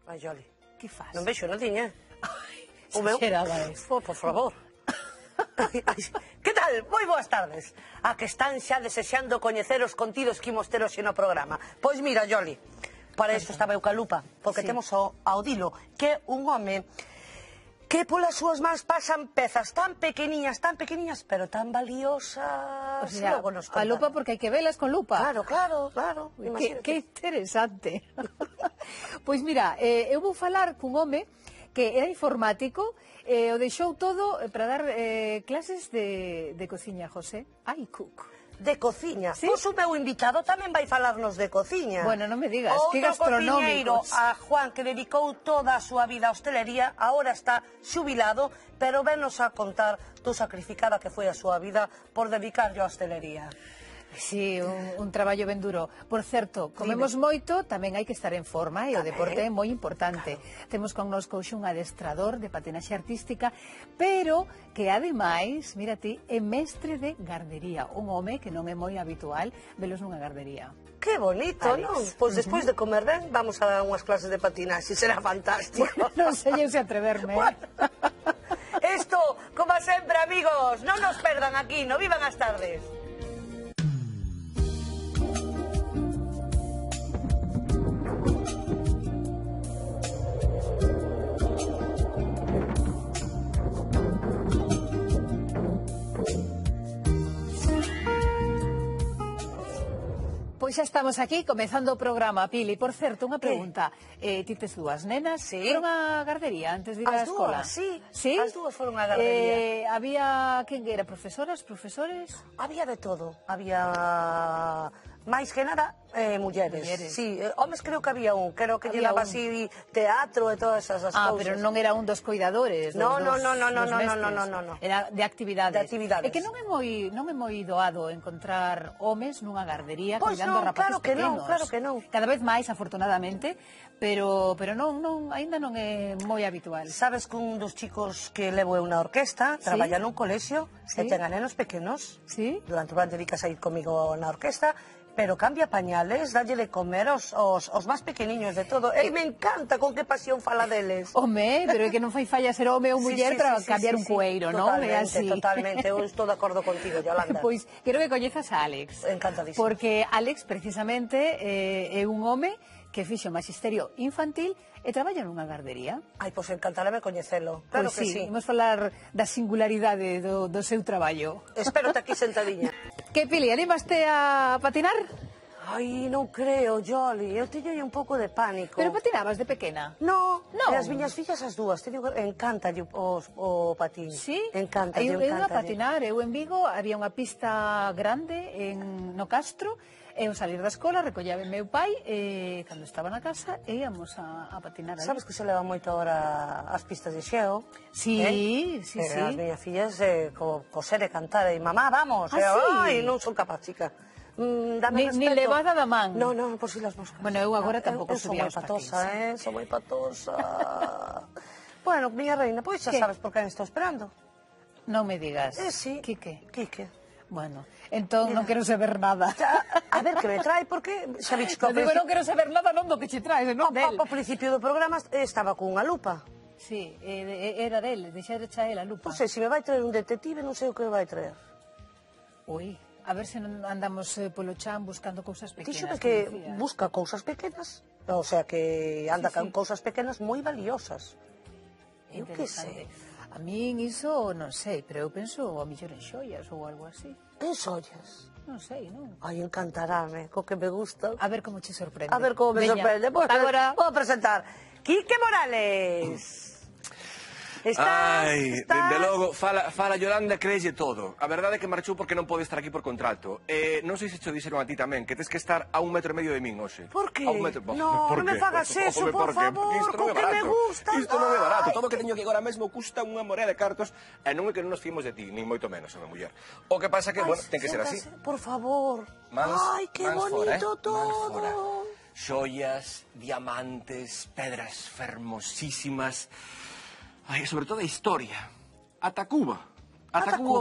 Ai, Joli. Que faz? Non vexo nadiña. Exagerada es. Por favor. Que tal? Moi boas tardes. A que están xa desexando coñecer os contidos que imos ter hoxe no programa. Pois mira, Joli, para isto estaba eu ca lupa, porque temos ao Dilo, que é un home que polas súas mans pasan pezas tan pequeniñas, pero tan valiosas. O sea, a lupa porque hai que velas con lupa. Claro. Que interesante. Pois mira, eu vou falar cun home que era informático, o deixou todo para dar clases de cociña, José. Ai, cook. De cociña. Pois o meu invitado tamén vai falarnos de cociña. Bueno, non me digas, que gastronómicos. Outro cociñeiro, a Juan, que dedicou toda a súa vida á hostelería, agora está xubilado, pero venos a contar do sacrificada que foi a súa vida por dedicarlle á hostelería. Sí, un traballo ben duro. Por certo, comemos moito, tamén hai que estar en forma e o deporte é moi importante. Temos connosco un adestrador de patinaxe artística, pero que ademais, mira ti, é mestre de gardería. Un home que non é moi habitual velos nunha gardería. Que bonito, non? Pois despois de comer ben, vamos a dar unhas clases de patinaxe, será fantástico. Non sei eu se atreverme. Isto, como sempre, amigos, non nos perdan aquí, no Vivan as Tardes. Pois xa estamos aquí, comezando o programa, Pili. Por certo, unha pregunta. Ti tes dúas nenas? Foron a gardería antes de ir á escola? As dúas, sí. As dúas foron a gardería. Había, quen era, profesoras, profesores? Había de todo. Había, máis que nada, mulleres. Sí, homes creo que había un, creo que lle daba así teatro e todas esas cousas. Pero non era un dos cuidadores? No. Era de actividades. De actividades. É que non é moi doado encontrar homes nunha gardería cuidando a rapaces pequenos. Claro que non. Cada vez máis, afortunadamente, pero aínda non é moi habitual. Sabes que un dos chicos que levo eu na orquesta traballa nun colexio e ten a nenos pequenos. Durante o verán dedicas a ir comigo na orquesta, pero cambia pañales, dalle de comer aos máis pequeniños de todo. E me encanta con que pasión fala deles. Home, pero é que non fai falla ser home ou muller para cambiar un cueiro, non? Totalmente, eu estou de acordo contigo, Yolanda. Pois, quero que coñezas a Álex. Encantadísimo. Porque Álex, precisamente, é un home que fixo magisterio infantil e traballa nunha gardería. Ai, pois encantarame coñecelo. Claro que sí. Imos falar da singularidade do seu traballo. Espérote aquí sentadiña. Que, Pili, animaste a patinar? Ai, non creo, Joli, eu teño un pouco de pánico. Pero patinabas de pequena? No, e as miñas fillas as dúas, encántalle o patín. Sí? Encántalle. Eu a patinar, eu en Vigo, había unha pista grande no Castro, eu salir da escola, recollaba meu pai, e cando estaba na casa, íamos a patinar. Sabes que se leva moito agora as pistas de xeo? Sí. As miñas fillas coser e cantar, e mamá, vamos. Ai, non son capaz, chica. Ni levada da man. Non, por si las moscas. Bueno, eu agora tampouco subía os patins. Son moi patosa. Bueno, miña reina, pois xa sabes por quen estou esperando. Non me digas. Sí. Quique. Bueno, entón non quero saber nada. A ver que me trae, porque xa bicho que... Digo, non quero saber nada, non do que che traes, non del. Ao principio do programa estaba cunha lupa. Sí, era del, deixarecha el a lupa. Non sei, se me vai traer un detective, non sei o que vai traer. Ui, a ver se non andamos polo chan buscando cousas pequenas. Díxome que busca cousas pequenas, o sea, que anda con cousas pequenas moi valiosas. Eu que sei. A min iso non sei, pero eu penso a mellor en xoias ou algo así. En xoias? Non sei, non? Ai, encantarame, co que me gusta. A ver como che sorprende. A ver como me sorprende. Agora vou presentar Quique Morales. Ai, dende logo, fala Yolanda, creeslle todo. A verdade é que marchou porque non pode estar aquí por contrato. Non sei se cho dixeron a ti tamén, que tes que estar a 1,5 metro e medio de min hoxe. Por que? Non me fagas eso, por favor, con que me gusta. Isto non é barato, todo o que teño que agora mesmo custa unha morea de cartos, e non é que non nos fimos de ti, nin moito menos, a muller. O que pasa que, bueno, ten que ser así. Por favor. Ai, que bonito todo. Xoias, diamantes, pedras fermosísimas. Ai, sobre todo a historia. Ata Cuba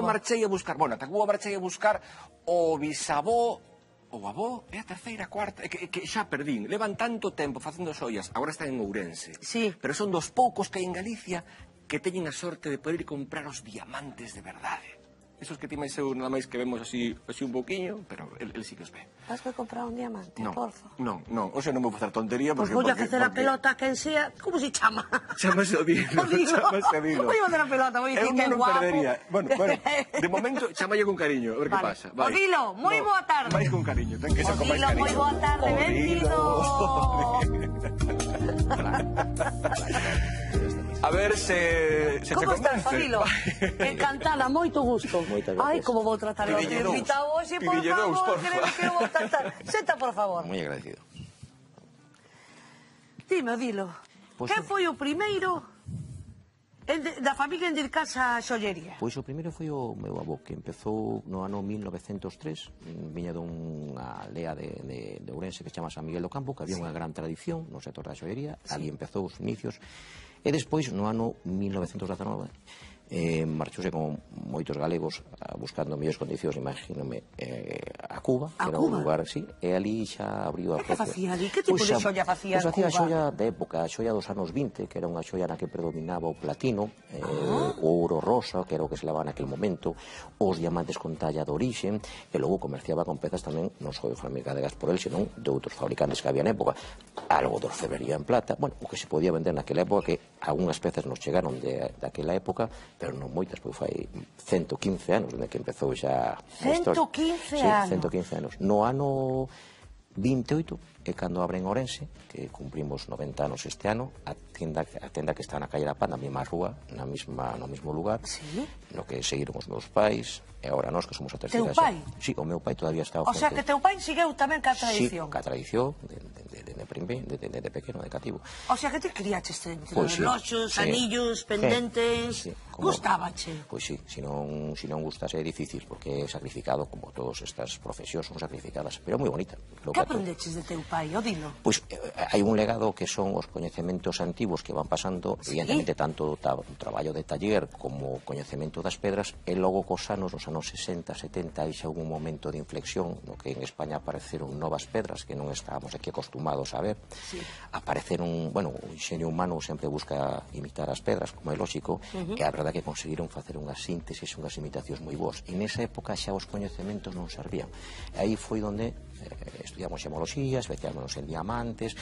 marchei a buscar. Bueno, ata Cuba marchei a buscar o bisavó o avó é a terceira, cuarta, que xa perdín. Levan tanto tempo facendo xoias, agora están en Ourense. Sí. Pero son dos poucos que hai en Galicia que teñen a sorte de poder ir comprar os diamantes de verdade. Esos que ti máis eu nada máis que vemos así un pouquiño, pero el sí que os ve. Vas a comprar un diamante, porfa. Non, hoxe non vou facer tontería porque... Pois vou a facer a pelota a quen sea, como se chama? Chamase o Dilo, chamase o Dilo. Vou a facer a pelota, vou dicir que é non guapo. perdería. Bueno, de momento chamalle con cariño, a ver que pasa. O Dilo, moi boa tarde. Vais con cariño, ten que ser con máis Dilo, cariño. moi boa tarde, benvido. A ver se te Como estás, convence. Dilo? Encantada, moito gusto. Moitas gracias. Ai, como vou tratar o Pidille dous. invitado hoxe, por Pidille dous, favor, porfa. que vou tratar. Senta, por favor. Moi agradecido. Dime, Dilo, Pois que foi o primeiro da familia en dedicarse á xollería? Pois o primeiro foi o meu avó, que empezou no ano 1903, viña dunha aldea de Ourense que se chama San Miguel do Campo, que había unha gran tradición no sector da xollería, ali empezou os inicios, e despois, no ano 1919, marchouse con moitos galegos buscando mellores condicións, imagínome, a Cuba, que era un lugar así, e ali xa abriu a... Que facía ali? Que tipo de xolla facía en Cuba? Facía xolla de época, a xolla dos anos 20, que era unha xolla na que predominaba o platino, o ouro rosa, que era o que se levaba naquel momento, os diamantes con talla de orixe, e logo comerciaba con pezas tamén non só fabricadas por el, senón de outros fabricantes que había na época, algo de orfebrería en plata, bueno, o que se podía vender naquela época, que algunhas pezas nos chegaron daquela época, pero non moitas, pois fai 115 anos desde que empezou xa a historia. 115 anos? Sí, 115 anos. No ano 28 é cando abren Ourense, que cumprimos 90 anos este ano, a tenda que está na calle da Pan, na mesma rúa, no mesmo lugar, no que seguiron os meus pais, e agora nós que somos a terceira. Teu pai? Sí, o meu pai todavía está O sea, que teu pai segueu tamén ca tradición. Sí, ca tradición, de pequeno, de cativo. O sea, que te criaches entre Pois sí, reloxos, sí. anillos, pendentes... Sí, Gustábache? Pois sí, se non gustase é difícil, porque é sacrificado, como todas estas profesións son sacrificadas, pero moi bonita. Que aprendeches de teu pai, o Dilo? Pois hai un legado que son os coñecementos antigos que van pasando, evidentemente tanto o traballo de taller como o coñecemento das pedras, e logo cos anos, nos anos 60, 70, hai xa un momento de inflexión no que en España apareceron novas pedras que non estábamos aquí acostumados a ver. Apareceron, bueno, o inxenio humano sempre busca imitar as pedras, como é lógico, e a verdade que conseguiron facer unhas síntesis, unhas imitacións moi boas. E nesa época xa os coñecementos non servían. E aí foi onde estudiamos xemoloxía, especialmente en diamantes,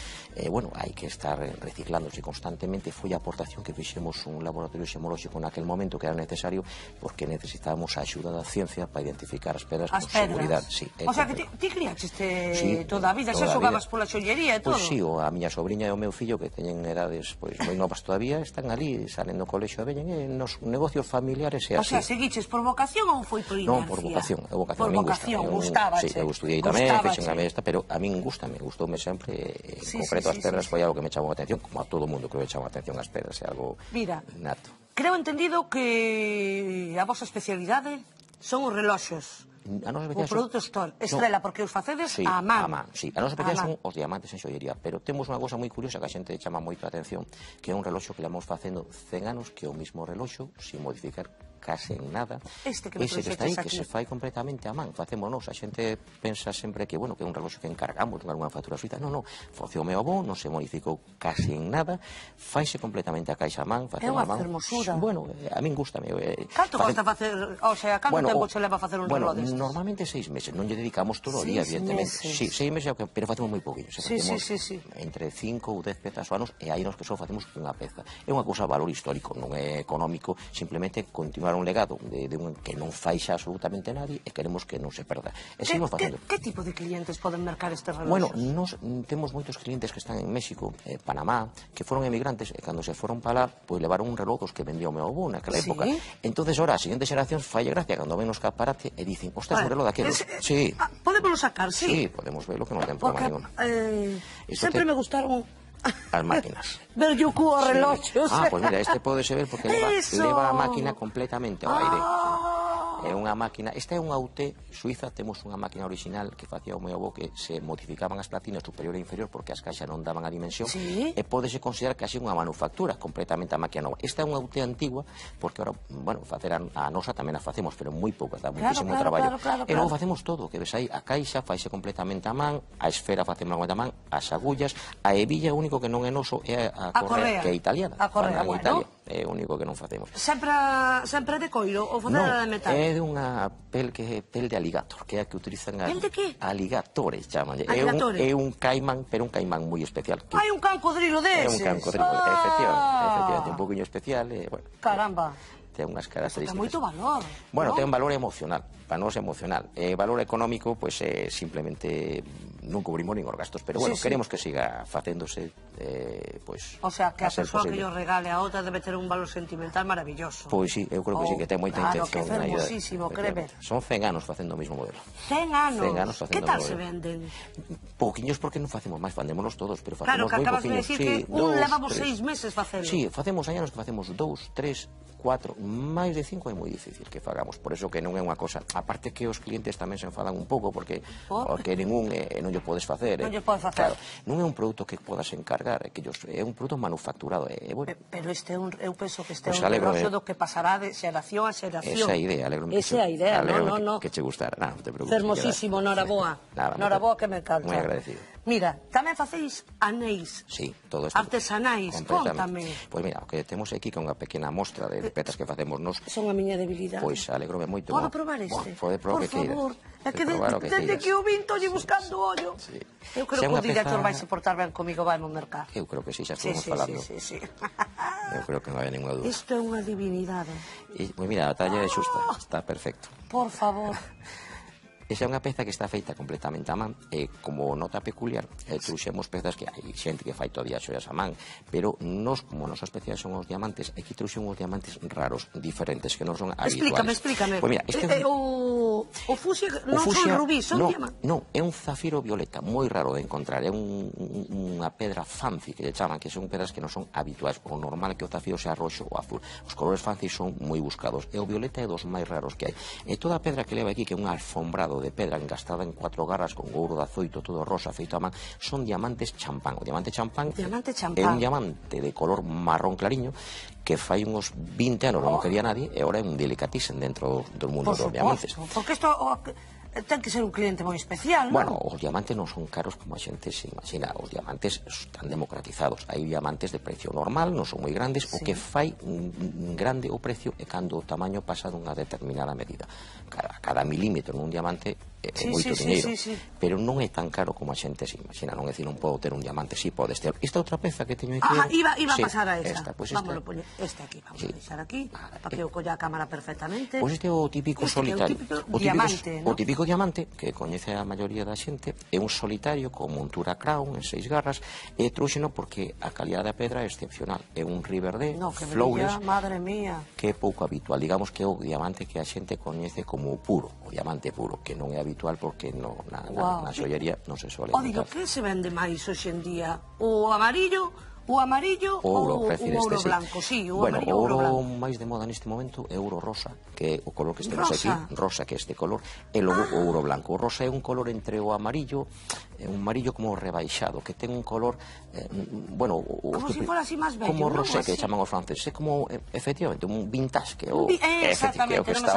bueno, hai que estar reciclándose constantemente. Foi a aportación que fixemos un laboratorio xemolóxico naquel momento que era necesario, porque necesitábamos a axuda da ciencia para identificar as pedras con seguridade. Sí, o sea, que ti criaches toda a vida, xa xogabas pola xollería e todo? Pois sí, a miña sobriña e o meu fillo, que teñen edades moi novas todavía, están ali, salen do colexo e veñen, nos negocios familiares e así. O sea, seguiches por vocación ou foi por inercia? Non, por vocación, Por vocación, gustábache. Sí, eu estudiei tamén, fixen a esta, pero a min gustoume sempre, en concreto as pedras foi algo que me chamou a atención, como a todo mundo creo que chama a atención as pedras, é algo nato. Creo entendido que a vosa especialidade son os reloxos. O produto estrela, porque os facedes a man. Sí, a nosa especialidade son os diamantes en xollería, pero temos unha cousa moi curiosa que a xente chama moito a atención, que é un reloxo que levamos facendo 100 anos, que é o mismo reloxo, sin modificar case en nada. Ese que está aí, que se fai completamente a man, facémonos. A xente pensa sempre que, bueno, que é un reloxo que encargamos dunha factura suiza. Non, faceu o meu avó, non se modificou case en nada, faise completamente a caixa a man, é unha fermosura. Bueno, a min gustame. Canto costa facer, o sea, canto tempo se leva a facer un reloj destes? Normalmente 6 meses, non lle dedicamos todo o día, evidentemente. Sí, 6 meses, pero facemos moi poquinho. Facemos entre 5 ou 10 pezas ao ano, e aí nos que só facemos unha peza. É unha cousa de valor histórico, non é económico, simplemente continuar un legado que non fai xa absolutamente nadie e queremos que non se perda. Que tipo de clientes poden mercar estes reloxos? Bueno, nos temos moitos clientes que están en México, Panamá, que foron emigrantes e cando se foron para lá, pois levaron un reloj dos que vendía o meu avó naquela época. Entonces, ahora, a seguinte xeración falle gracia cando ven nos caparate e dicen, ostras, un reloj daqueles. Sí. Podemos sacar, sí? Sí, podemos verlo que non ten problema ningún. Sempre me gustaron as máquinas. Ver yo cuo reloxos. Pois mira, este pode ser ver porque leva a máquina completamente ao aire. É unha máquina, esta é unha UT suiza, temos unha máquina original que facía o meu avó que se modificaban as platinas superior e inferior porque as caixas non daban a dimensión e pódese considerar casi unha manufactura completamente a máquina nova. Esta é unha UT antigua porque ahora, bueno, facer a nosa tamén a facemos, pero moi pouco, dá muitísimo traballo. E logo facemos todo, que ves aí, a caixa faise completamente a man, a esfera facemos a man, as agullas, a hebilla, o único que non é noso é a correa, que é italiana. A correa, bueno. É o único que non facemos. Sempre de coiro ou facela de metal? É de unha pel de aligator, que é a que utilizan pel de que? Aligatores, chamanlle. Aligatores? É un caimán, pero un caimán moi especial. Hai un cancodrilo deses? É un cancodrilo, efectivamente, un poquinho especial. Caramba. Ten unhas características. Ten moito valor. Bueno, ten un valor emocional, para nós emocional. Valor económico, pois simplemente non cubrimos nin os gastos, pero bueno, queremos que siga facéndose, pois... O sea, que a persoa que yo regale a outra debe ter un valor sentimental maravilloso. Pois sí, eu creo que sí, que ten moita intención. Claro, que fermosísimo, créeme. Son 100 anos facendo o mesmo modelo. 100 anos? 100 anos facendo o que tal modelo. se venden? Pouquiños porque non facemos máis, vendémonos todos, pero facemos moi pouquiños. Claro, que acabas de decir que un levamos 6 meses facendo. Sí, facemos anos que facemos 2, 3, 4, máis de 5 é moi difícil que fagamos, por eso que non é unha cosa, aparte que os clientes tamén se enfadan un pouco porque ningún non lle podes facer. Non lle podes facer. Claro, non é un produto que podas encargar, é un produto manufacturado. Pero eu penso que este é un negocio do que pasará de xeración a xeración. Esa é a idea, alegrome. Esa é a idea, non. Que che gustara, non te preocupes. Fermosísimo, noraboa. Noraboa que me encanta. Moi agradecido. Mira, tamén facéis anéis. Sí, todo isto. Artesanais, contame. Pois mira, o que temos aquí que é unha pequena mostra de petas que facemos nos. Son a miña debilidade. Pois alegrome moito. Podo probar este? Pode probar o que queiras. Por favor, é que desde que o vin tolle buscando ollo. Eu creo que o director vai se portar ben comigo, vai no mercado. Eu creo que sí, xa estamos falando. Sí. Eu creo que non hai ninguna dúda. Isto é unha divinidade. Pois mira, a talla é xusta, está perfecto. Por favor. Esa é unha peza que está feita completamente a man e como nota peculiar trouxemos pezas que hai xente que fai todavía xoias a man, pero nos, como nosa especial son os diamantes, aquí trouxemos diamantes raros, diferentes, que non son habituales. Explícame. Pois mira, o fucsia non son rubíes, son diamantes. Non, é un zafiro violeta, moi raro de encontrar, é unha pedra fancy que lle chaman, que son pedras que non son habituais, o normal é que o zafiro sea roxo ou azul. Os colores fancy son moi buscados, e o violeta é dos máis raros que hai. E toda a pedra que leva aquí, que é un alfombrado de pedra engastada en 4 garras con ouro de azoito, todo rosa, feito a man, son diamantes champán. O diamante champán é un diamante de color marrón clariño que fai uns 20 anos non quería nadie e agora é un delicatessen dentro do mundo dos diamantes. Porque isto ten que ser un cliente moi especial, non? Bueno, os diamantes non son caros como a xente se imagina, os diamantes están democratizados. Hai diamantes de precio normal, non son moi grandes, o que fai un grande o precio é cando o tamaño pasa dunha determinada medida. Cada milímetro nun diamante é moito diñeiro, pero non é tan caro como a xente se imagina, non é dicir, non podo ter un diamante, si podes ter. Esta outra peza que teño aquí... Iba a pasar a esta. Vámonos poñer este aquí, vamos a deixar aquí, para que eu colla a cámara perfectamente. Pois este é o típico solitario. O diamante, non? O típico diamante, que coñece a maioría da xente, é un solitario con montura crown en 6 garras, e trouxeno porque a calidad da pedra é excepcional. É un Riverdale, flawless, madre mía, que é pouco habitual. Digamos que é o diamante que a xente coñece como puro, o diamante puro, que non é habitual porque na xollería non se suele encontrar. O que se vende máis hoxe en día? O amarillo ou o ouro blanco? Sí, o amarillo ou ouro blanco. O ouro máis de moda neste momento é ouro rosa, que é o color que estemos aquí, rosa, que é este color, e logo o ouro blanco. O rosa é un color entre o amarillo, un amarillo como rebaixado, que ten un color, bueno... Como se fora así máis bello, como rosé, que chaman os franceses, é como, efectivamente, un vintage, que é o que está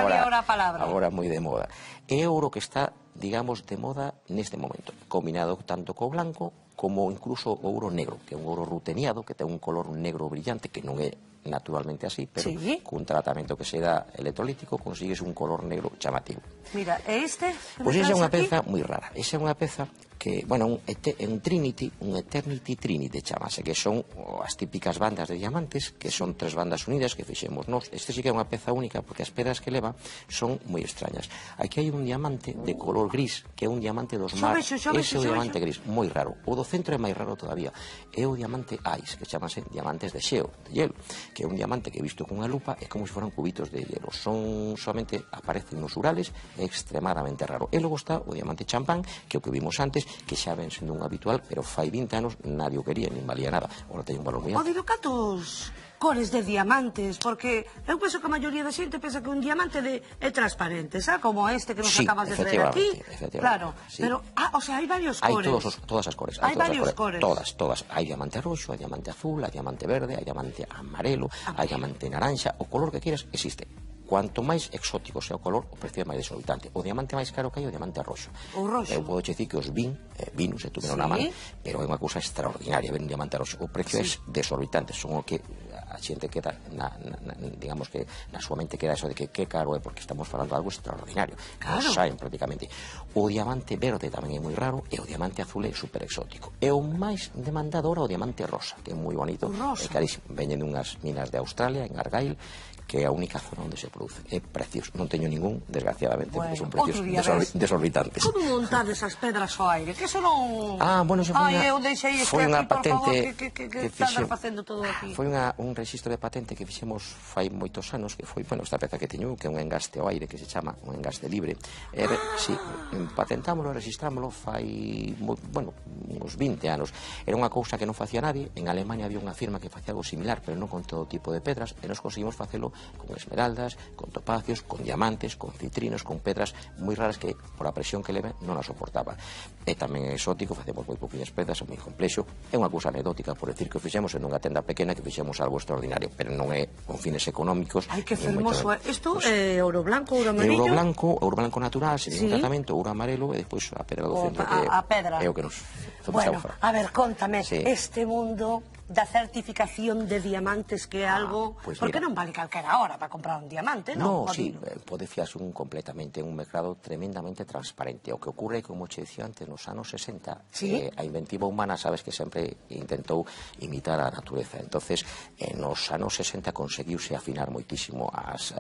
agora moi de moda. É ouro que está, digamos, de moda neste momento, combinado tanto co blanco como incluso o ouro negro, que é un ouro ruteniado, que ten un color negro brillante, que non é naturalmente así, pero cun tratamento que se dá electrolítico consigues un color negro chamativo. Mira, e este? Pois esa é unha peza moi rara. Esa é unha peza que, bueno, un Trinity, un Eternity Trinity chamase, que son as típicas bandas de diamantes, que son 3 bandas unidas que fixemos nós. Este sí que é unha peza única porque as pedras que leva son moi extrañas. Aquí hai un diamante de color gris, que é un diamante dos mar. Ese é o diamante gris, moi raro. O do centro é máis raro todavía. É o diamante ice, que chamase diamantes de xeo, de hielo, que é un diamante que visto con unha lupa é como se foran cubitos de hielo. Son solamente aparecen nos Urales, é extremadamente raro. E logo está o diamante champán, que é o que vimos antes, que xa ven sendo un habitual, pero fai 20 anos nadie o quería, nin valía nada. Ora teñen un valor moi alto. O de catos cores de diamantes, porque eu penso que a maioría da xente pensa que un diamante é transparente, xa? Como este que nos acabas de traer aquí. Claro, pero, o sea, hai varios cores. Hai todas as cores. Hai varios cores. Todas. Hai diamante roxo, hai diamante azul, hai diamante verde, hai diamante amarelo, hai diamante naranja, o color que quieras existe. Cuanto máis exótico sea o color, o precio é máis desorbitante. O diamante máis caro que hai é o diamante roxo. O roxo. Eu podo dicir que os vinos, se tuveron na man, pero é unha cousa extraordinaria ver un diamante roxo. O precio é desorbitante, son o que a xente queda, digamos que na súa mente queda eso de que caro é, porque estamos falando de algo extraordinario. Claro. Saben prácticamente. O diamante verde tamén é moi raro, e o diamante azul é super exótico. E o máis demandado ahora é o diamante rosa, que é moi bonito, é carísimo. Veñen dunhas minas de Australia, en Argyle, que é a única zona onde se produce. É precioso. Non teño ningún, desgraciadamente, porque son precios desorbitantes. Como montades esas pedras ao aire? Que eso non... Bueno, eso foi unha patente que estás facendo todo aquí. Foi un registro de patente que fixemos fai moitos anos, que foi, bueno, esta peza que teño, que é un engaste ao aire, que se chama un engaste libre. Si, patentámoslo, registrámoslo fai, bueno, uns 20 anos. Era unha cousa que non facía nadie. En Alemania había unha firma que facía algo similar, pero non con todo tipo de pedras, e nos conseguimos facelo con esmeraldas, con topacios, con diamantes, con citrinos, con pedras moi raras que, por a presión que leve, non a soportaba. E tamén é exótico, facemos moi pouquinhas pedras, é moi complexo. É unha cousa anecdótica, por decir que o fixemos en unha tenda pequena, que fixemos algo extraordinario, pero non é con fines económicos. Ai, que fermoso. Isto é ouro blanco, ouro amarillo? Ouro blanco natural, sin ningún tratamento, ouro amarelo, e despois a pedra do centro, que é o que nos... Bueno, a ver, contame, este mundo da certificación de diamantes, que é algo... Porque non vale calquera hora para comprar un diamante, non? Non, sí, pode fiarse un completamente en un mercado tremendamente transparente. O que ocurre, como che dicía antes, nos anos 60, a inventiva humana, sabes que sempre intentou imitar a natureza. Entonces, nos anos 60 conseguiuse afinar moitísimo as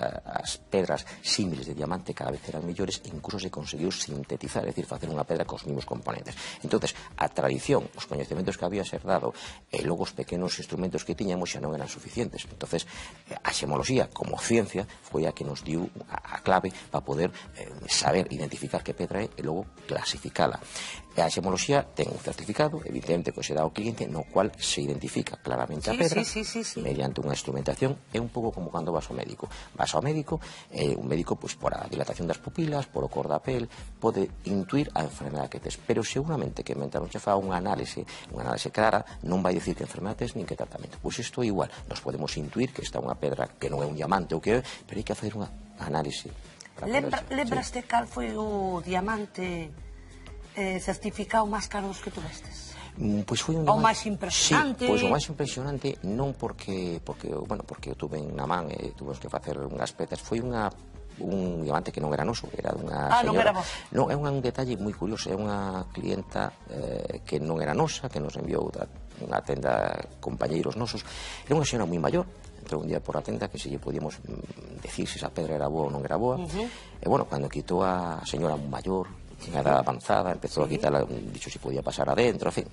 pedras símiles de diamante, cada vez eran mellores, e incluso se conseguiu sintetizar, é dicir, facer unha pedra cos mesmos componentes. Entonces, a tradición, os coñecementos que había ser dado, e logo os pequenos instrumentos que tiñamos xa non eran suficientes. Entonces, a xemoloxía, como ciencia, foi a que nos diu a clave para poder saber identificar que pedra é e logo clasificala. E a xemoloxía ten un certificado, evidentemente, que se dá ao cliente, no cual se identifica claramente a pedra mediante unha instrumentación. É un pouco como cando vas ao médico. Vas ao médico, un médico, por a dilatación das pupilas, por o cor da pel, pode intuir a enfermedade que tes, pero seguramente que mentre non che fa unha análise clara, non vai dicir que enfermedade tes nin que tratamento. Pois isto é igual. Nos podemos intuir que está unha pedra que non é un diamante ou que é, pero hai que facer unha análise. Lembraste cal foi o diamante certificado máis caro dos que tuvestes? Pois foi un diamante... O máis impresionante? Sí, pois o máis impresionante non porque eu tuve na man e tuvemos que facer unhas pezas, foi un diamante que non era noso, era dunha señora. Non era vos? Non, é un detalle moi curioso, é unha clienta que non era nosa, que nos enviou unha tenda compañeiros nosos. Era unha señora moi maior, entrou un día por a tenda que se lle podíamos decir se esa pedra era boa ou non era boa. E bueno, cando quitou a señora maior, unha edad avanzada, empezou a quitar, dicho se podía pasar adentro, en fin,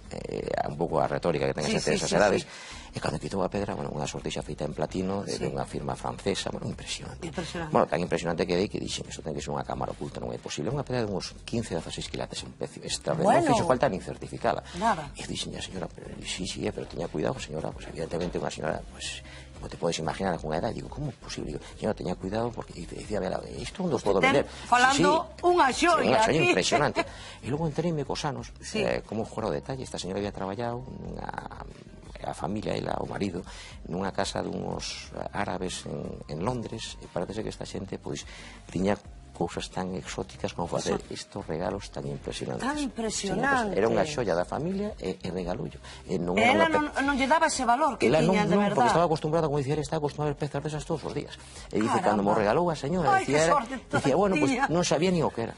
un pouco a retórica que ten esas edades. E cando quitou a pedra, unha sortixa feita en platino de unha firma francesa, impresionante. Bueno, tan impresionante que dei que dixen, isto ten que ser unha cámara oculta, non é posible. Unha pedra de uns 15-16 quilates, un precio extraordinario, non fixo falta nin certificada. E dixen, señora, sí, pero teña cuidado, señora, evidentemente unha señora, como te podes imaginar, con unha edad, digo, como é posible? Señora, teña cuidado, porque dicía, isto non os podo vender. Falando unha xoia aquí. Impresionante. E logo entereime cos anos, como fora o detalle, esta señora había traballado a familia, ela, o marido, nunha casa dunhos árabes en Londres, e parece que esta xente, pois, tiña cousas tan exóticas como facer estes regalos tan impresionantes. Tan impresionantes. Era unha xoia da familia e regalullo. Ela non lle daba ese valor que tiña de verdade. Porque estaba acostumbrada, como dicía, estaba acostumbrada a ver pezas desas todos os días. E dice, cando me regalou a señora, dicía, bueno, pois non sabía ni o que era.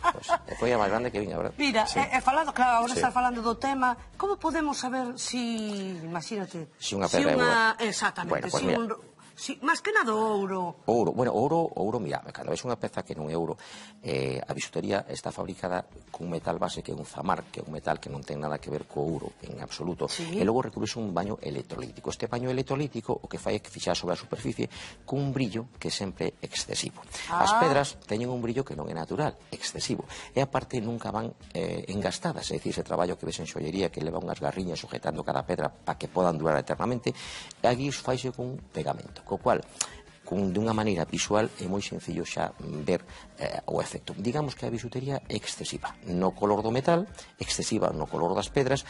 Foi a máis grande que viña, verdad? Mira, falando, claro, agora estás falando do tema, como podemos saber si, imagínate, si unha pedra é boa? Exactamente, Sí, máis que nada ouro. Ouro, bueno, ouro, mira, cando ves unha peza que non é ouro, a bisutería está fabricada cun metal base que é un zamar, que é un metal que non ten nada que ver co ouro en absoluto, e logo recubres un baño electrolítico. Este baño electrolítico o que fai é que fixar sobre a superficie cun brillo que é sempre excesivo. As pedras teñen un brillo que non é natural, excesivo, e aparte nunca van engastadas, é dicir, ese traballo que ves en xollería que leva unhas garriñas sujetando cada pedra para que podan durar eternamente, e aquí faise cun pegamento, co cual dunha maneira visual é moi sencillo xa ver o efecto. Digamos que a bisutería é excesiva no color do metal, excesiva no color das pedras,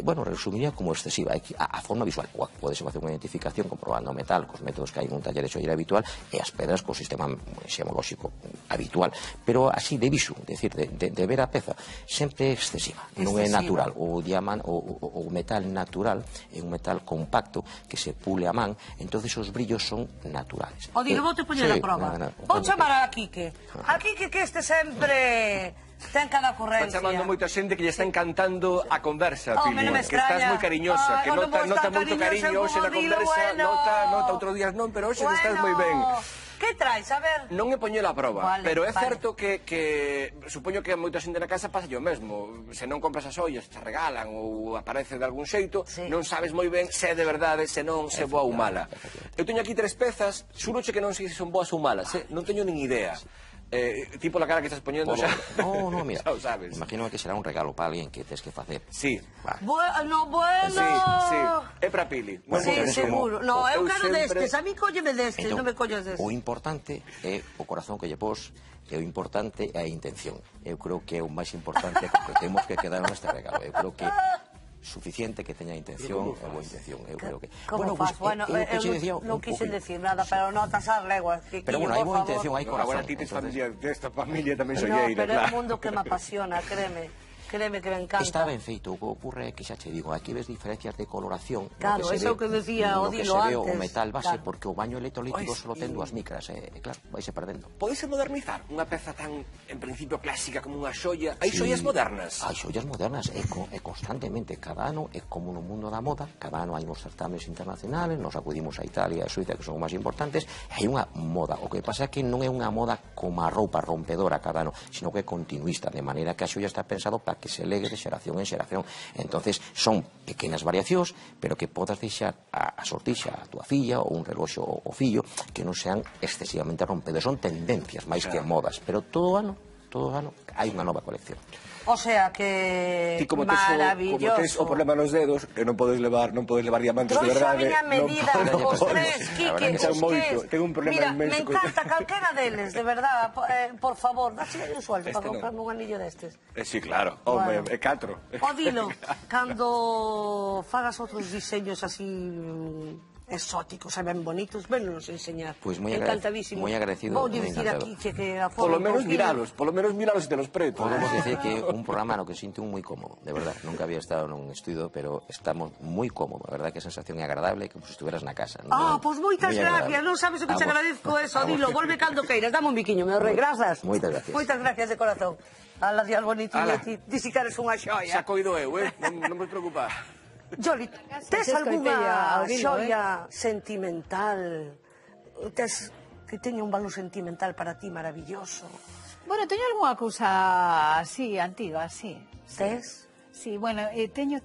bueno, resumiría como excesiva a forma visual. Podese facer unha identificación comprobando o metal cos métodos que hai nun taller de xollería habitual e as pedras co sistema xemolóxico habitual, pero así de visu, decir, de ver a peza, sempre é excesiva, non é natural. O metal natural é un metal compacto que se pule a man, entonces os brillos son naturales. O digo, vou te poñer a prova. Vou chamar a Quique. A Quique que este sempre ten cada ocurrencia. Está chamando moita xente que lle está encantando a conversa, Pili. Non me Que estás moi cariñosa, que nota moito cariño hoxe na conversa, nota outros días non, pero hoxe estás moi ben. Que traes? A ver. Non é poñelo a prova, pero é certo que supoño que a moita xente na casa pasa o mesmo. Se non compras as ollas, te regalan ou aparece de algún xeito, non sabes moi ben se é de verdade, se non, se boa ou mala. Eu teño aquí 3 pezas, xuroche que non sei se son boas ou malas, non teño nin idea. Tipo la cara que estás poñendo xa. No, mira, xa o sabes. Imagino que será un regalo para alguén que tes que facer. Sí. Bueno. Sí. É para Pili. Sí, seguro. No, eu quero destes, a mí cólleme destes, non me collas destes. O importante é o corazón que lle pos, e o importante é a intención. Eu creo que é o máis importante que temos que quedar neste regalo. Eu creo que suficiente que teña intención e boa intención, eu creo que... Como faz? Bueno, eu non quise decir nada, pero notas as leguas. Pero bueno, hai boa intención, hai corazón. Agora ti tes familia, desta familia tamén No, solleira, pero é un mundo que me apasiona, créeme que me encanta. Está ben feito, o que ocorre é que xa che digo, aquí ves diferencias de coloración. Claro, eso que decía Odilo antes. No que se ve o metal base, porque o baño electrolítico solo ten 2 micras, e claro, vaise perdendo. Podese modernizar unha peza tan, en principio, clásica como unha xoia? Hai xoias modernas? Hai xoias modernas, e constantemente, cada ano, é como no mundo da moda, cada ano hai uns certames internacionales, nos acudimos a Italia e a Suiza, que son os máis importantes, e hai unha moda. O que pasa é que non é unha moda como a roupa rompedora cada ano, sino que é continuista, de maneira que a xoia está pensado para que se legue de xeración en xeración. Entonces son pequenas variacións, pero que podas deixar a sortixa a túa filla ou un reloxo ao fillo que non sean excesivamente rompedos. Son tendencias máis que modas, pero todo ano hai unha nova colección. O sea que ti como maravilloso. Tes o problema nos dedos, que non podes levar diamantes de verdade. Trouxo a miña medida, os 3, Quique, os 3. Tengo un problema inmenso. Mira, me encanta calquera deles, de verdad, por favor, dache un sueldo para comprarme un anillo destes. Sí, claro, home, é 4. O dilo, cando fagas outros diseños así exóticos e ben bonitos, vennos enseñar. Pois moi agradecido. Vou dicir aquí que a Polo menos miralos e te los preto. Podemos decir que un programa no que sinto moi cómodo, de verdad. Nunca había estado nun estudio, pero estamos moi cómodos. A verdad que a sensación é agradable, como se estuveras na casa. Pois moitas gracias, non sabes o que te agradezco eso, dilo, volve cando queiras, dame un biquiño, meu rei, grazas. Moitas gracias. Moitas gracias de corazón. Ala, días bonitinho, ti si queres unha xoia. Xa coido eu, non vos preocupar. Joli, tes algunha xoia sentimental? Tes que teña un valor sentimental para ti maravilloso? Bueno, teño algunha cousa así, antiga, sí. Tes? Sí, bueno, teño,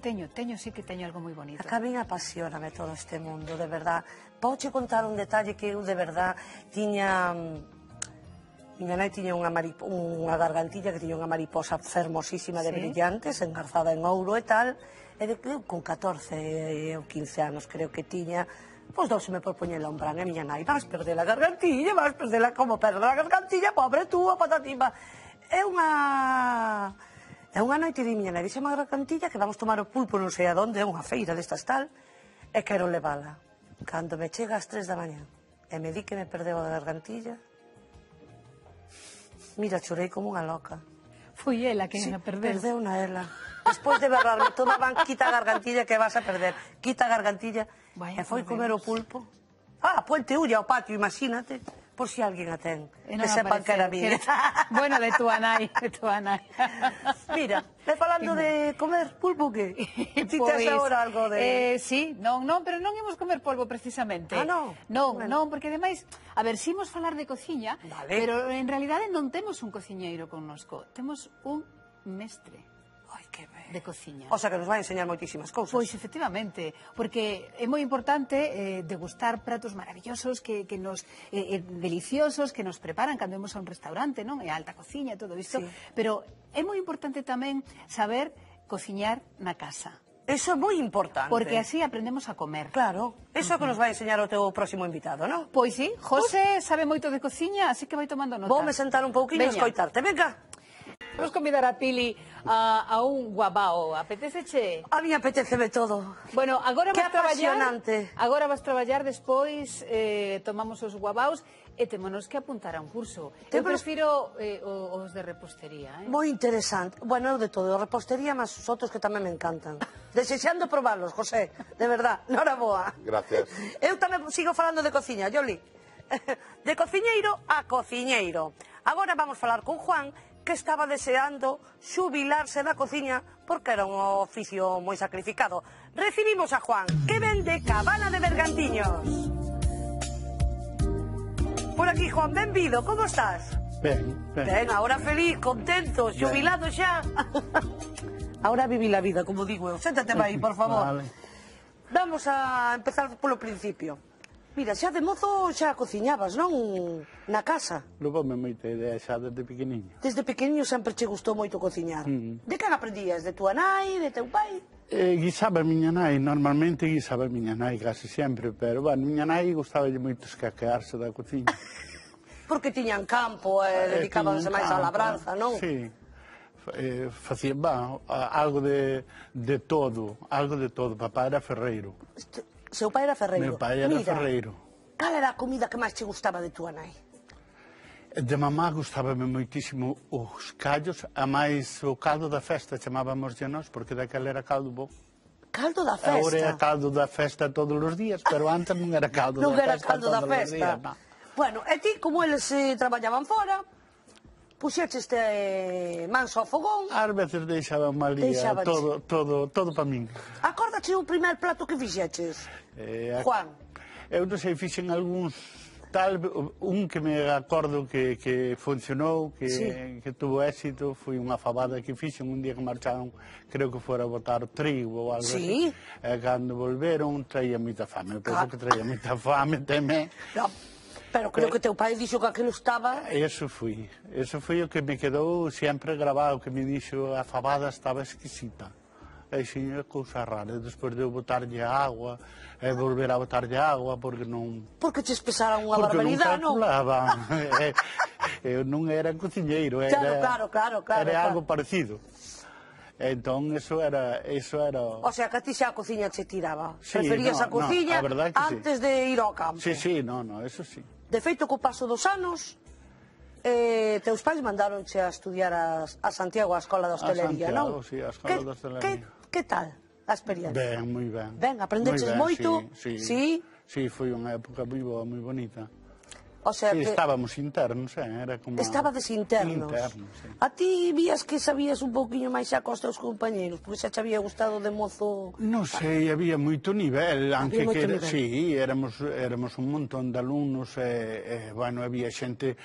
sí que teño algo moi bonito. A mí apasioname todo este mundo, de verdad. Pouche contar un detalle que eu de verdad tiña... Miña nai tiña unha gargantilla que tiña unha mariposa fermosísima de brillantes, engarzada en ouro e tal, e con 14 ou 15 anos creo que tiña, pois douseme por poñela un bran, e miña nai, vas perder a gargantilla, como perder a gargantilla, pobre túa, patatimba. É unha noite de miña nai, dixeme a gargantilla que vamos tomar o pulpo non sei a donde, é unha feira destas tal, e quero levala. Cando me chega ás 3 da mañá e me di que me perdeu a gargantilla, mira, chorei como unha loca. Foi ela que a perdeu. Perdeuna ela. Despois de berrarme, tomaban, quita a gargantilla que vas a perder. Quita a gargantilla. E foi comer o pulpo. Puente ulla ao patio, imagínate. por si alguén a ten, que sepan que era miña. Bueno, de túa nai, de túa nai. Mira, falando de comer pulpo, que? Ti tes agora algo de... Sí, non, pero non imos comer polvo precisamente. Ah, non? Non, porque ademais, a ver, si imos falar de cociña, pero en realidade non temos un cociñeiro connosco, temos un mestre. Ai, que ben. De cociña. O sea, que nos vai enseñar moitísimas cousas. Pois, efectivamente, porque é moi importante degustar pratos maravillosos, deliciosos, que nos preparan cando vamos a un restaurante, non? E alta cociña, todo isto. Pero é moi importante tamén saber cociñar na casa. Eso é moi importante. Porque así aprendemos a comer. Claro, eso é o que nos vai enseñar o teu próximo invitado, non? Pois sí, José sabe moito de cociña, así que vai tomando nota. Voume sentar un pouquinho e escoitarte, venga. Vamos convidar a Pili a un guabao. Apeteceche? A mí apeteceme todo. Bueno, agora Que vas traballar. apasionante. Agora vas traballar, despois tomamos os guabaos e témonos que apuntar a un curso. Eu prefiro os de repostería. Moi interesante. Bueno, eu de todo, repostería, mas os outros que tamén me encantan. Desexando probarlos, José, de verdad. Noraboa. Gracias. Eu tamén sigo falando de cociña, Yoli. De cociñeiro a cociñeiro. Agora vamos falar con Juan, que estaba deseando xubilarse da cociña porque era un oficio moi sacrificado. Recibimos a Juan, que ven de Cabana de Bergantiños. Por aquí, Juan, benvido, como estás? Ben. Ben, ahora feliz, contento, xubilado xa. Ahora viví la vida, como digo eu. Séntate aí, por favor. Vale. Vamos a empezar polo principio. Mira, xa de mozo xa cociñabas, non? Na casa. Levoume moita idea xa desde pequeniño. Desde pequeniño sempre che gustou moito cociñar. De quen aprendías? De túa nai, de teu pai? Guisaba a miña nai, normalmente guisaba a miña nai casi sempre, pero, bueno, miña nai gustaba moito escaquearse da cociña. Porque tiñan campo e dedicábanse máis á labranza, non? Sí. Facía, algo de todo, Papá era ferreiro. Seu pai era ferreiro. Meu pai era ferreiro. Cal era a comida que máis che gustaba de túa nai? De mamá gustábame moitísimo os callos, a máis o caldo da festa, chamábamos de nós, porque daquela era caldo bo. Caldo da festa? Agora é caldo da festa todos os días, pero antes non era caldo da festa. Non era caldo da festa. Bueno, e ti, como eles traballaban fora, puxeches mans ao fogón. Ás veces deixaban malía todo para min. Acordache o primer plato que fixeches, Juan? Eu non sei, fixen algúns tal, un que me acordo que funcionou, que tuvo éxito, foi unha fabada que fixen un día que marcharon, creo que fora a botar trigo ou algo así. E cando volveron, traía moita fame. Eu penso que traía moita fame, teme. Pero creo que teu pai dixo que aquilo estaba... Eso foi o que me quedou sempre grabado, que me dixo a fabada estaba exquisita. E xin, é cousa rara, despois de eu botarlle agua, e volver a botarlle agua, porque non... Porque che espesaran unha barbaridade, non? Porque non calculaban. Eu non era cociñeiro, Claro. Era algo parecido. Entón, eso era... O sea, que a ti xa a cociña che tiraba. Sí, preferías a cociña antes de ir ao campo. Sí, eso sí. De feito, co paso dos anos, teus pais mandaronche a estudiar a Santiago, a Escola de Hostelería, non? A Santiago, sí, a Escola de Hostelería. Que tal a experiencia? Ben, moi ben. Ben, aprendeches moito? Sí, foi unha época moi boa, moi bonita. O sea sí, que... estábamos internos, era como... Estabades internos. Sí. A ti vías que sabías un pouquiño máis xa cos teus compañeros, porque xa te había gustado de mozo... Non sei, había moito nivel, aunque que sí, éramos un montón de alumnos, bueno, había xente,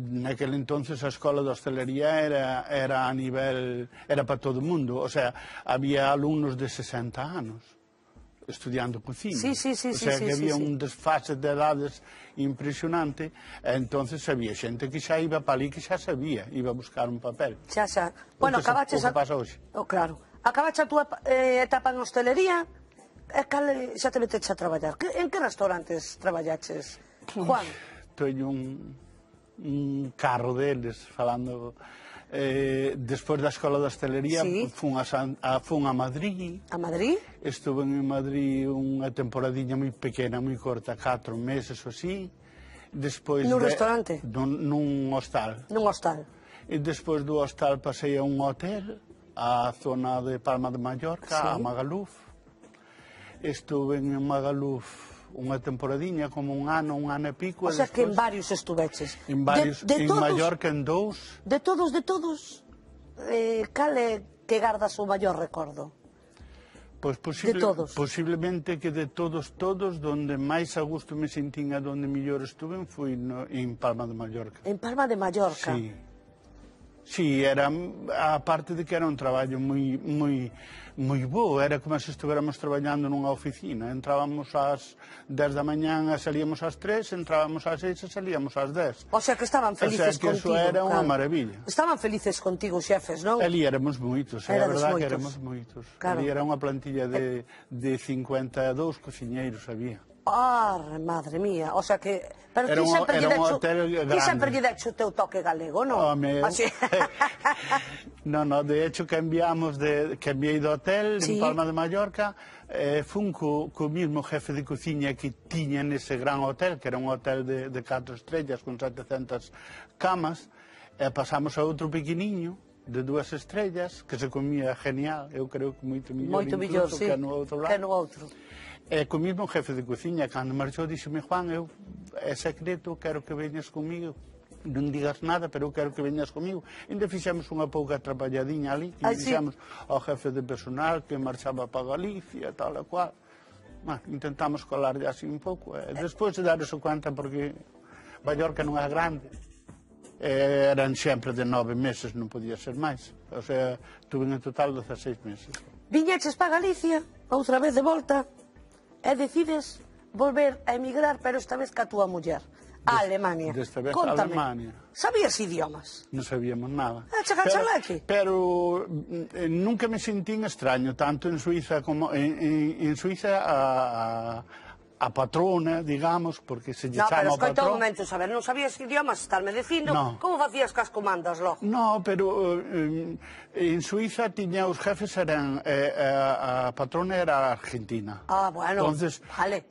naquele entonces a Escola de Hostelería era a nivel, era para todo o mundo, o sea, había alumnos de 60 anos estudiando cociña. Sí. O sea, que había un desfase de edades impresionante, entonces había xente que xa iba para ali que xa sabía, iba a buscar un papel. Xa. Bueno, acabaches o que pasa hoxe. Claro. Acabaches a túa etapa en hostelería, e cal xa te meteches a traballar. En que restaurantes traballaches, Juan? Teño un carro deles, falando... despois da Escola de Hostelería fun a Madrid. A Madrid? Estuve en Madrid unha temporadiña moi pequena, moi corta, 4 meses ou así. Nun restaurante? Nun hostal. Nun hostal. E despois do hostal pasei a un hotel, a zona de Palma de Mallorca, a Magaluf. Estuve en Magaluf unha temporadiña, como un ano e pico. O sea que en varios estuveches. En varios, en Mallorca en 2. De todos, cal é que gardas o maior recordo? Pois posiblemente que de todos, donde máis a gusto me sentín e donde mellor estuve foi en Palma de Mallorca. En Palma de Mallorca? Sí. Sí, era, a parte de que era un traballo moi bo, era como se estuviéramos traballando nunha oficina. Entrábamos ás 10 da mañán e salíamos ás 3, entrábamos ás 6 e salíamos ás 10. O sea que estaban felices contigo. O sea que eso era unha maravilla. Estaban felices contigo, xefes, non? Ali éramos moitos, é a verdade que éramos moitos. Ali era unha plantilla de 52 cociñeiros había. Madre mía, o sea que... Pero era un hotel grande. Ti sempre lle dexe o teu toque galego, non? No, de hecho cambiei de hotel en Palma de Mallorca, fun co mismo jefe de cociña que tiña nese gran hotel, que era un hotel de 4 estrellas con 700 camas, e pasamos a outro pequeniño de 2 estrellas, que se comía genial, eu creo que moito mellor incluso que no outro lado. E co mismo jefe de cociña, cando marchou, díxome: Juan, é secreto, quero que veñas comigo, non digas nada, pero eu quero que veñas comigo. Ainda fixemos unha pouca trapalladinha ali, que dixemos ao jefe de personal que marchaba para Galicia, tal e cual. Intentamos colarlle así un pouco, e despois de darse conta, porque Mallorca non é grande, eran sempre de 9 meses, non podía ser máis. O sea, tuve en total 16 meses. Viñeches para Galicia, outra vez de volta, e decides volver a emigrar, pero esta vez ca túa muller, a Alemania. Desta vez a Alemania. Sabías idiomas? Non sabíamos nada. Pero nunca me sentín extraño, tanto en Suiza como en Suiza a patrona, digamos, porque se lle chama o patrón. No, pero escoita un momento, saber, non sabías idiomas, estarme dicindo, como facías cas comandas logo? No, pero en Suiza tiña os jefes eran, a patrona era argentina. Bueno, entonces,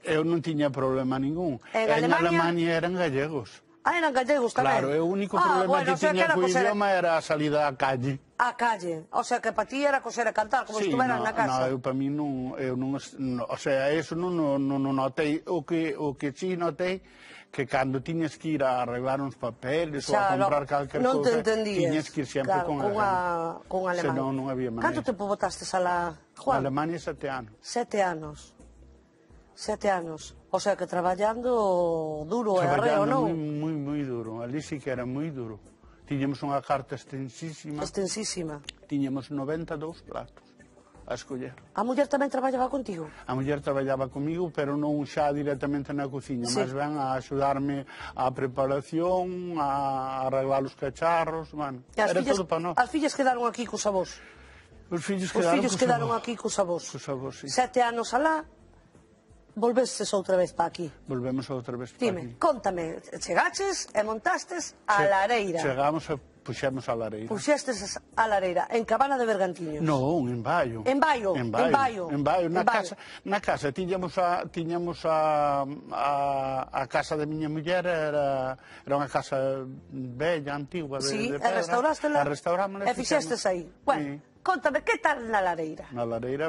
eu non tiña problema ningún. En Alemania eran gallegos. Eran gallegos tamén? Claro, o único problema que tiña co idioma era a salida á calle. A calle, o sea que para ti era coser e cantar, como estuveran na casa. Eu para mí non, o sea, eso non notei, o que sí notei, que cando tiñes que ir a arreglar uns papeles ou a comprar calquer cousa, tiñes que ir sempre con alemán. Senón non había maneira. Canto tempo botastes a la Juan? A Alemania 7 anos. 7 anos. 7 anos. O sea que traballando duro e arreo, non? Traballando moi duro, ali sí que era moi duro. Tiñamos unha carta extensísima. Extensísima. Tiñamos 92 platos a escoller. A muller tamén traballaba contigo? A muller traballaba comigo, pero non xa directamente na cociña, máis ben a axudarme a preparación, a arreglar os cacharros, era todo para nós. As fillas quedaron aquí cos avós? Os fillos quedaron aquí cos avós? Cos avós, sí. 7 anos alá, volvestes outra vez para aquí? Volvemos outra vez para aquí. Dime, contame, chegaches e montastes a lareira? Chegamos e puxemos a lareira. Puxestes a lareira, en Cabana de Bergantiños? Non, en Baio. En Baio? En Baio. Na casa tiñamos a casa de miña muller, era unha casa bella, antigua, de pedra. Restaurástela? Restaurámola. E fixestes aí? Bueno, contame, que tal na lareira? Na lareira,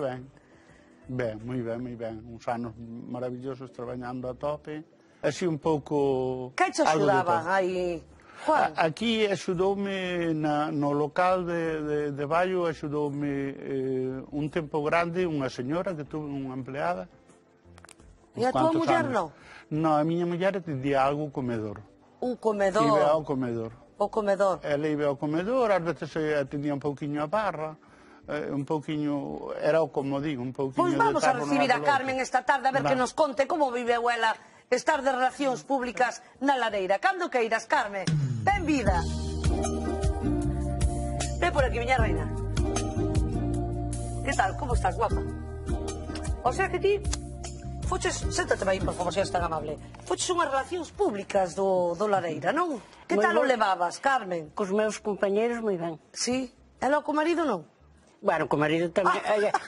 ben, moi ben, uns anos maravillosos traballando a tope, así un pouco... Que te axudaba aí, Juan? Aquí axudoume no local de Baio, axudoume un tempo grande unha señora que tuve unha empleada. E a tua muller non? Non, a miña muller tendía algo comedor. Un comedor? Iba ao comedor. O comedor? Ela iba ao comedor, ás veces atendía un pouquiño a barra, un pouquiño, era como digo, un pouquiño de... Pois vamos a recibir a Carmen esta tarde a ver que nos conte como vive ela estar de relacións públicas na lareira. Cando queiras, Carmen, ben vida. Ven por aquí, miña reina. Que tal, como estás, guapa? O sea que ti foches, séntate aí, por favor, se és tan amable. Foches unhas relacións públicas do lareira, non? Que tal o levabas, Carmen? Cos meus compañeros moi ben. Sí? Ela co marido non? Bueno, co marido tamén.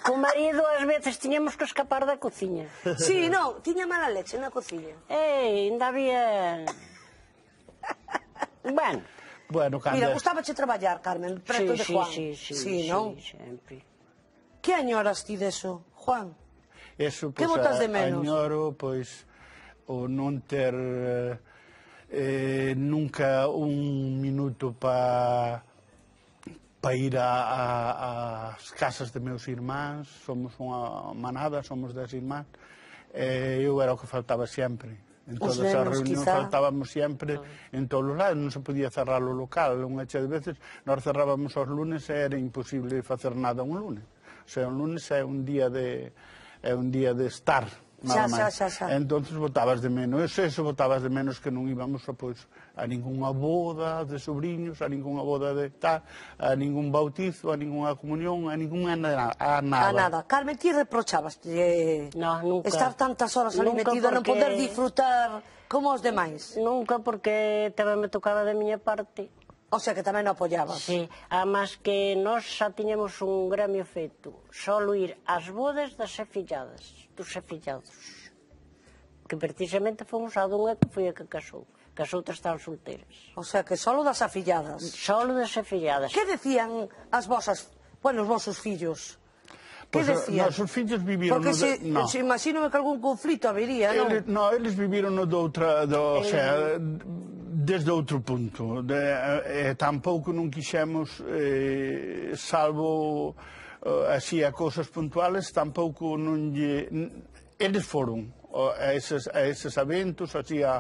Co marido ás veces tiñamos que escapar da cociña. Sí, non, tiña mala leche na cociña. Ainda había... Bueno. Mira, gustábache traballar, Carmen, preto de Juan. Sí, non? sempre. Que añoras ti deso, Juan? Eso, que botas de menos? Añoro, pois, o non ter nunca un minuto para ir ás casas de meus irmáns. Somos unha manada, somos 10 irmáns, eu era o que faltaba sempre. En todas as reunións faltábamos sempre en todos os lados, non se podía cerrar o local. Unha chea de veces nós cerrábamos os lunes e era imposible facer nada un lunes. O sea, un lunes é un día de estar, nada máis. Entonces botabas de menos eso, botabas de menos que non íbamos a ninguna boda de sobrinhos, a ninguna boda de tal, a ningún bautizo, a ninguna comunión, a ninguna nada. A nada. Carmen, ti reprochabas estar tantas horas ali metido, non poder disfrutar como os demais? Nunca, porque tamén me tocaba de miña parte. O sea, que tamén o apoyabas. Sí, además que nós xa tiñamos un gremio feito, solo ir ás bodas das afilladas, dos afillados, que precisamente fomos a dunha que foi a que casou, que as outras estaban solteras. O sea, que solo das afilladas. Solo das afilladas. Que decían as vosas, bueno, os vosos fillos? Que decían? Nosos fillos viviron... Porque se imagino que algún conflito habería, non? Non, eles viviron de outra, o sea, desde outro punto. Tampouco non quixemos, salvo así a cousas puntuales, tampouco non lle... Eles foron a eses eventos, así a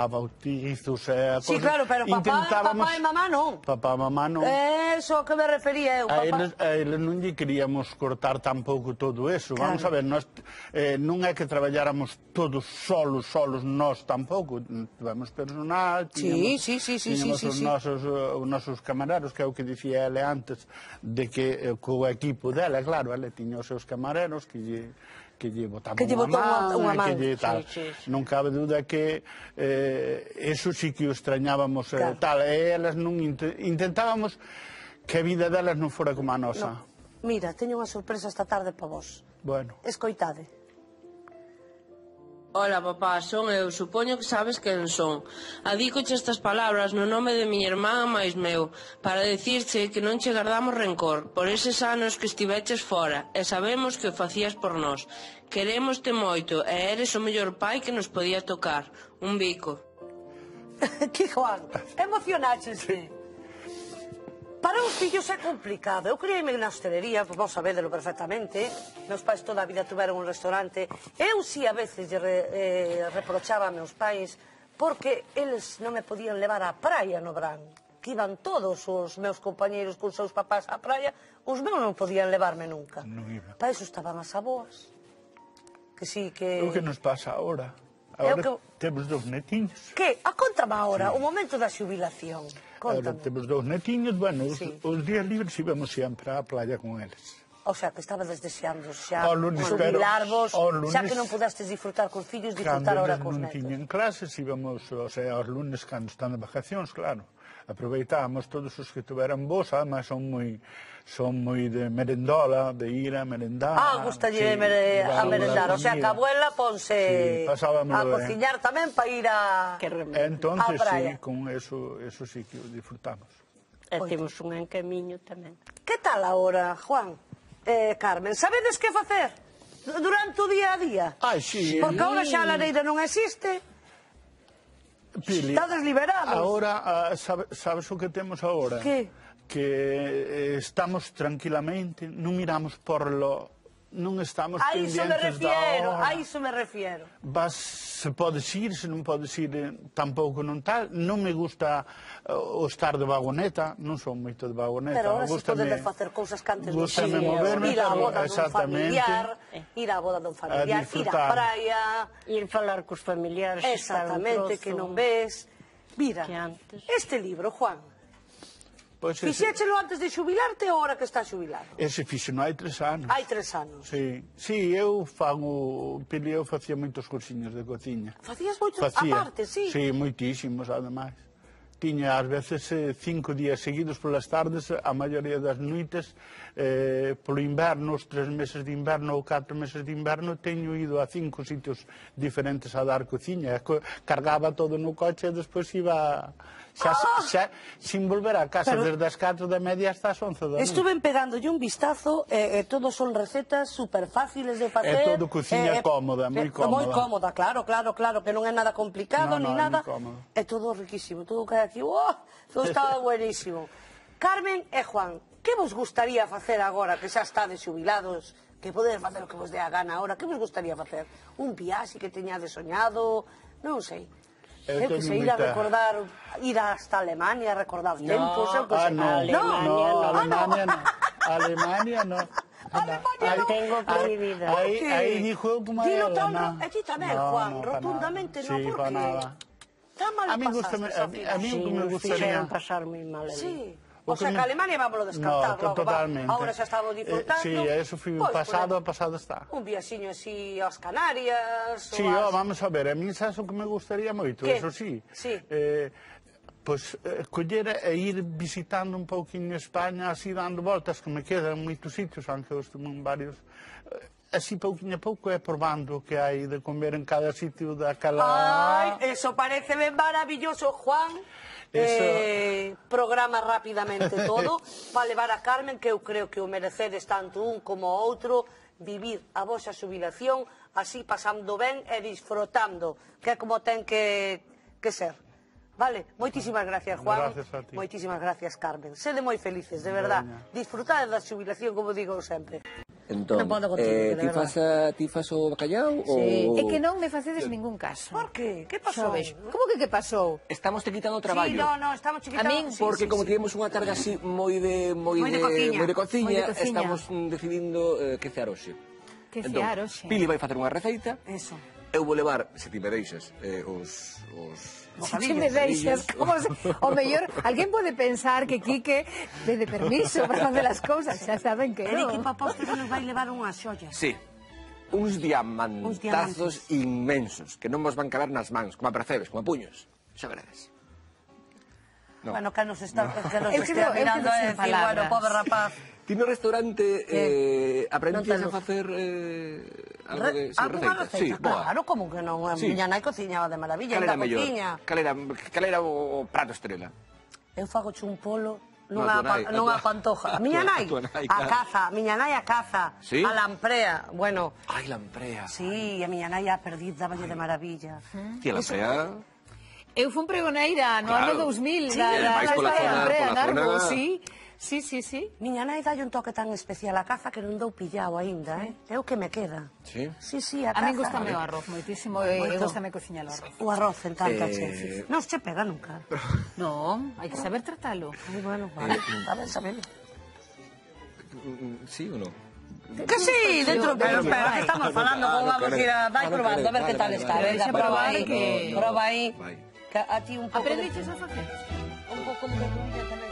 bautizos, a cosas. Sí, claro, pero papá e mamá non. Papá e mamá non. Eso que me refería eu, papá. A eles non lle queríamos cortar tampouco todo eso. Vamos a ver, non é que traballáramos todos solos, nós tampouco. Tivemos personal, tiñamos os nosos camareros, que é o que dicía ele antes, de que co equipo dela, claro, ele tiña os seus camareros que lle botaban unha man, que lle tal. Non cabe dúda que eso sí que o extrañábamos tal, e elas non intentábamos que a vida delas non fora como a nosa. Mira, teño unha sorpresa esta tarde para vos. Bueno. Escoitade. Ola, papá, son eu, supoño que sabes quen son. Adícoche estas palabras no nome de miña irmán máis meu, para dicirche que non che guardamos rencor por eses anos que estiveches fora, e sabemos que o facías por nós. Querémoste moito, e eres o mellor pai que nos podía tocar. Un bico. Que Juan, emocionáchese. Para os fillos é complicado. Eu criei-me na hostelería, vos sabédelo perfectamente. Meus pais toda a vida tuveron un restaurante. Eu si a veces reprochaba a meus pais porque eles non me podían levar á praia no verán. Que iban todos os meus compañeiros con seus papás á praia, os meus non podían levarme nunca. Para eso estaban as aboas. Que sí, que... O que nos pasa agora? Agora temos 2 netiños. Que? Contame agora, o momento da xubilación. Ahora temos 2 netiños, bueno, os días libres íbamos sempre á playa con eles. O sea, que estabas deseando xa xubilarvos, xa que non pudestes disfrutar cos fillos, disfrutar ahora cos netos. Cando non tiñen clases, íbamos, o sea, aos lunes, cando están de vacacións, claro. Aproveitábamos todos os que tuveran vos, además son moi de merendola, de ir a merendar. Gustalle a merendar, o sea, que a abuela ponse a cociñar tamén para ir a praia. Entonces, sí, con eso sí que o disfrutamos. E temos un encamiño tamén. Que tal agora, Juan? Carmen, sabedes que facer durante o día a día? Sí. Porque agora xa a lareira non existe. Pili, estades liberados. Agora, sabes o que temos agora? Que? Que estamos tranquilamente, non miramos por lo... Non estamos pendientes da hora. A iso me refiero. Se podes ir, se non podes ir, tampouco non tal. Non me gusta o estar de vagoneta, non son moito de vagoneta. Pero ahora se poden facer cousas que antes non se moverme, ir á boda dun familiar, ir á boda dun familiar, ir á praia, ir falar cos familiares. Exactamente, que non ves. Mira, este libro, Juan, fixéchelo antes de xubilarte ou ahora que está xubilado? Ese fixeno hai 3 anos. Hai 3 anos. Sí, eu facía moitos cursiños de cociña. Facías moitos aparte, sí? Sí, moitísimos, ademais. Tiña ás veces 5 días seguidos polas tardes, a maioría das noites, polo inverno, os 3 meses de inverno ou 4 meses de inverno, teño ido a 5 sitios diferentes a dar cociña. Cargaba todo no coche e despois iba xa sin volver a casa desde as 4 da media hasta as 11 da noite. Estuve pegándolle un vistazo e todos son recetas super fáciles de facer. É todo cociña cómoda, moi cómoda. Moi cómoda, claro, que non é nada complicado ni nada. É todo riquísimo, todo que hai aquí, todo está buenísimo. Carmen e Juan, que vos gustaría facer agora que xa estades xubilados, que podedes facer o que vos dé a gana agora, que vos gustaría facer? Un viaxe que teñades soñado, non sei. Eu que sei, ir a recordar, ir hasta Alemania, recordar tempos, eu que sei. Alemania no. Alemania tengo prohibida. Aí dijo como ela, no. E ti tamén, Juan, rotundamente non, porque está mal pasas. A mí me gustaría pasar moi mal. Sí. O sea, que Alemania vámoslo descartar logo. Totalmente. Ahora xa estamos disfrutando. Sí, eso foi pasado está. Un viaxiño así aos Canarias. Sí, vamos a ver, a mí xa o que me gustaría moito, eso sí. Pois coller e ir visitando un pouquinho España, así dando voltas, que me quedan moitos sitios, aunque eu estuve en varios. Así pouquinho a pouco é probando o que hai de comer en cada sitio daquela... Ai, eso pareceme maravilloso, Juan. Programa rapidamente todo para levar a Carmen, que eu creo que o merecedes tanto un como o outro, vivir a vosa xubilación así pasando ben e disfrutando, que é como ten que ser. Vale, moitísimas gracias, Juan. Gracias a ti. Moitísimas gracias, Carmen. Sede moi felices, de verdad. Disfrutade da xubilación, como digo sempre. Entón, ti fas o bacallau? É que non me facedes ningún caso. Por que? Que pasou? Como que pasou? Estamos te quitando o traballo. Sí, non, estamos te quitando... Porque como tivemos unha tarde así moi de cociña, estamos decidindo que cear hoxe. Que cear hoxe? Pili vai facer unha receita. Eso. Eu vou levar, se ti me deixas, os... Se ti me deixas, o mellor, alguén pode pensar que Quique pede permiso para facer as cousas, xa saben que non. E que para postres nos vai levar unhas xollas. Sí, uns diamantazos inmensos, que non vos van caber nas mans, como a percebes, como a puños, xa veredes. Bueno, que nos está mirando a decir, bueno, pobre rapaz. Ti no restaurante aprendiches a facer algo de receitas? Sí, claro, como que non. A miña nai cociñaba de maravilla. Cal era o prato estrela? Eu fago un polo, non a pantoja. A miña nai, a caza, a lamprea, bueno. Ai, lamprea. Sí, a miña nai a perdiz dáballe de maravilla. Ti a lamprea... Eu fun pregoneira no ano 2000 da lamprea, sí. Sí. Miña nai dalle un toque tan especial a caza que non dou pillao aínda, É o que me queda. Sí? Sí, a caza. A mí gustame o arroz moitísimo e gustame cociñar o arroz. O arroz en tanta che. Non se pega nunca. Non, hai que saber tratalo. Ai, bueno, vale, sabelo. Sí ou non? Que sí, dentro, pero espera, que estamos falando, como vamos a ir a... Vai probando, a ver que tal está. Prova aí. A ti un pouco... Aprendiches a facer? Un pouco de comida tamén.